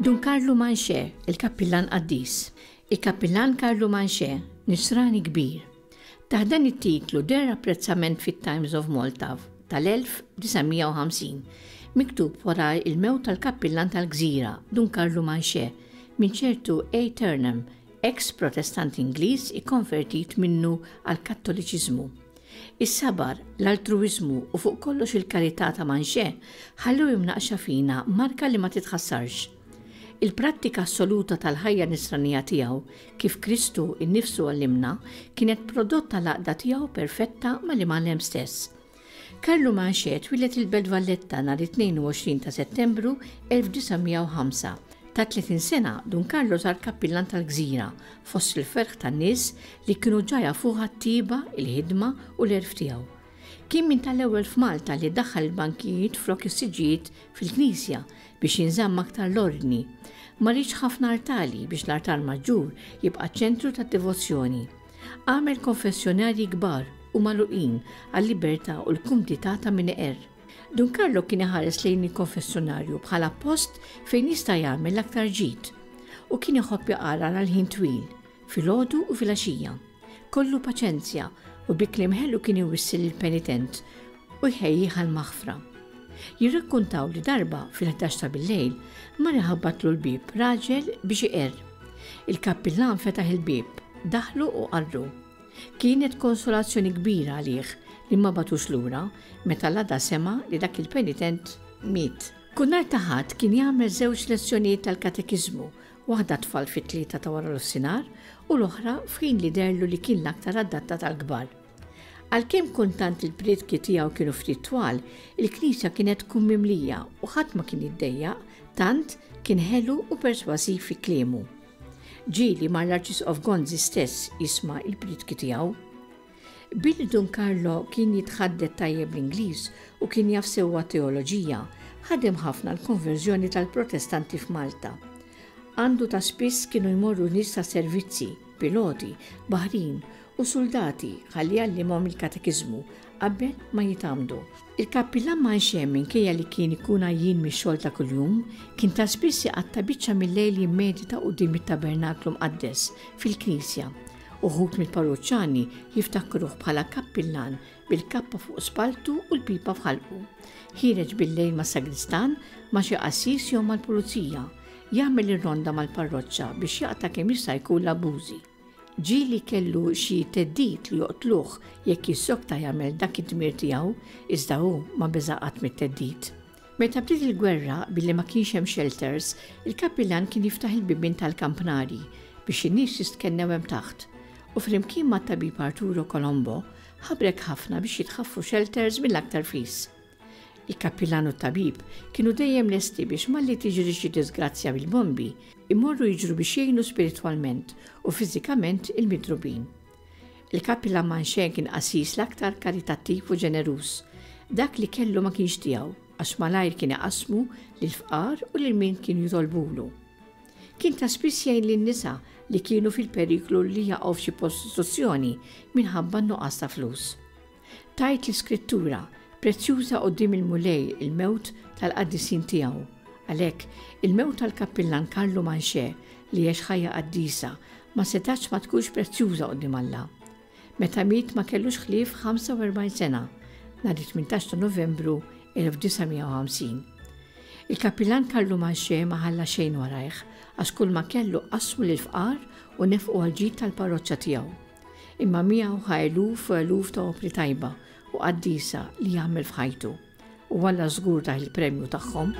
Dun Karlu Manché, il-kappillan qaddis. Il-kappillan Karlu Manché, nisrani kbir. Taħt dan it-titlu deher apprezzament fit-Times of Malta tal-1950, miktub wara l-mewt tal-kappillan tal-gżira, Dun Karlu Manché, minn ċertu A. Turnham, eks Protestant Ingliż ikkonvertit minnu għall-Kattoliċiżmu. Is-sabar, l-altruwiżmu u fuq kollox il-karità ta' Manché ħallew imnaqqxa fina marka li ma titħassarx. Il-prattika assoluta tal-ħajja nisranija tiegħu, kif Kristu nnifsu għallimna, kienet prodott tal-għaqda tiegħu perfetta mal-Imgħallem stess. Karlu Manché twieled il-Belt Valletta nhar it-22 ta' Settembru 1905. Ta' 30 sena, Dun Karlo sar kappillan tal-gżira, fost il-ferħ tan-nies li kienu ġa jafuh għat-tjieba, il-ħidma u l-għerf tiegħu. Kien minn tal-ewwel f'Malta li daħħal il-bankijiet flok is-siġġijiet fil-knisja biex jinżamm aktar l-ordni. Ma riedx ħafna artali biex l-artal maġġur jibqa' ċ-ċentru tad-devozzjoni. Għamel konfessjonarji kbar u magħluqin għal-libertà u l-kumdità ta' min iqerr. Dun Carlo kien iħares lejn il-konfessjonarju bħala post fejn jista' jagħmel l-aktar ġid u kien iħobb iqarar għal ħin twil, filgħodu u filgħaxija. Kollu paċenzja u bi kliem ħelu kien iwissi lill-penitent u jħejjih għall-maħfra. Jirrakkontaw li darba, fil-ħdax ta' billejl, mar iħabbatlu l-bieb raġel biex iqerr. Il-kappillan fetaħ il-bieb, daħlu u qarru. Kienet konsolazzjoni kbira għalih li ma bagħtux lura meta l-għada sema' li dak il-penitent miet. Kull nhar ta' Ħadd kien jagħmel żewġ lezzjonijiet tal-katekiżmu, waħda għat-tfal fit-tlieta ta' waranofsinhar u l-oħra f'ħin li deherlu li kien l-aktar adattat għall-kbar. Għalkemm kultant il-prietki tiegħu kienu ftit twal, il-knisja kienet tkun mimlija u ħadd ma kien jiddejjaq tant kien ħelu u persważiv fi kliemu. Ġieli mar l-Arċisqof Gonzi stess jisma' l-prietki tiegħu. Billi Dun Carlo kien jitħaddet tajjeb l-Ingliż u kien jaf sewwa t-teoloġija, ħadem ħafna għall-konverżjoni tal-Protestanti f'Malta. Għandu ta' spiss kienu jmorru nies ta' servizzi, piloti, baħrin u suldati ħalli jgħallimhom il-katekiżmu qabel ma jitgħammdu. Il-kappillan Manché minkejja li kien ikun għajjien mix-xogħol ta' kuljum, kien ta' spiss iqatta' biċċa mil-lejl jimmedita quddiem it-tabernaklu mqaddes fil-knisja. Uħud mill-parruċċani jiftakruh bħala kappillan bil-kappa fuq spalltu u l-pipa f'ħalqu. Ħiereġ bil-lejl mas-sagristan, ma' xi qassis jew mal-pulizija, jagħmel ir-ronda mal-parroċċa biex jaqta' kemm jista' jkun l-abbużi. Ġieli kellu xi theddid li joqtluh jekk jissokta jagħmel dak id-dmir tiegħu, iżda hu ma beża' qatt mit-theddid. Meta bdiet il-gwerra, billi ma kienx hemm shelters, il-kappillan kien jiftaħ il-bibien tal-kampnari biex in-nies jistkennew hemm taħt, u flimkien mat-tabib Arturo Colombo ħabrek ħafna biex jitħaffu shelters mill-aktar fis. Il-kappillan u t-tabib kienu dejjem lesti biex malli tiġri xi diżgrazzja bil-bombi, imorru jiġru biex jgħinu spiritwalment u fiżikament il-midrubin. Il-kappillan Manché kien qassis l-aktar karitattiv u ġeneruż. Dak li kellu ma kienx tiegħu, għax malajr kien iqassmu lill-fqar u lil min kienu jitolbulu. Kien ta' spiss jgħin lin-nisa li kienu fil-periklu li jaqgħu f'xi prostituzzjoni minħabba n-nuqqas ta' flus. Tgħid l-Iskrittura, Prezzjuża quddiem il-Mulej il-mewt tal-qaddisin tiegħu. Għalhekk, il-mewt tal-kappillan Karlu Manché, li għex ħajja qaddisa, ma setgħetx ma tkunx prezzjuża quddiem Alla. Meta miet ma kellux ħlief 45 sena, nhar it-18 ta' Novembru 1950. Il-kappillan Karlu Manché ma ħalla xejn warajh, għax kulma kellu qassmu lill-fqar u nefqu għall-ġid tal-parroċċa tiegħu. Imma miegħu ħa eluf u eluf ta' opri tajba u qaddisa li għamel f'ħajtu. U Alla żgur tah il-premju tagħhom.